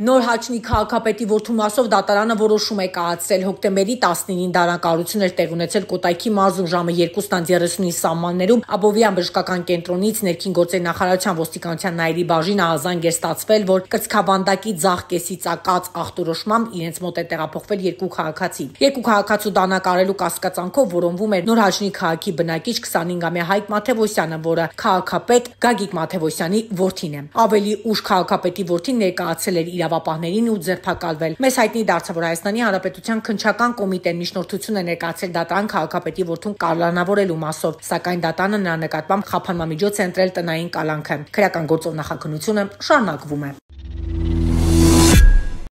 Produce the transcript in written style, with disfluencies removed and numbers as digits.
Նոր Հաչնի քաղաքապետի որդու մասով դատարանը որոշում է կայացրել հոկտեմբերի 19-ին դարակառուցություն էր տեղի ունեցել Կոտայքի մարզում ժամը 2:30-ի սահմաններում Աբովյան բժշկական կենտրոնից ներքին գործերի նախարարության ոստիկանության նայերի բաժին ահազանգ էր ստացվել, որ կրծքավանդակի ձախ կեսի ծակած ախտորոշմամբ իրենց մոտ է տեղափոխվել երկու քաղաքացի։ Երկու քաղաքացու դանակարելու կասկածանքով որոնվում էր Նոր Հաչնի քաղաքի բնակիչ 25-ամյա Հայկ Մաթևոսյանը, որը քաղաքապետ Գագիկ Մաթևոսյանի որդին է։ Ավելի ուշ քաղաքապետի որդին ներկայացել էր իրավապահներին ու ձերբակալվել։ Մեզ հայտնի դարձավ, որ Հայաստանի Հանրապետության քննչական կոմիտեն միջնորդություն է ներկայացել դատարան քաղաքապետի որդուն կալանավորելու մասով, սակայն դատարանը նրա նկատմամբ խափանմամիջոց է ընտրել տնային կալանքը։ Քրեական գործով նախաքննությունը շարունակվում է։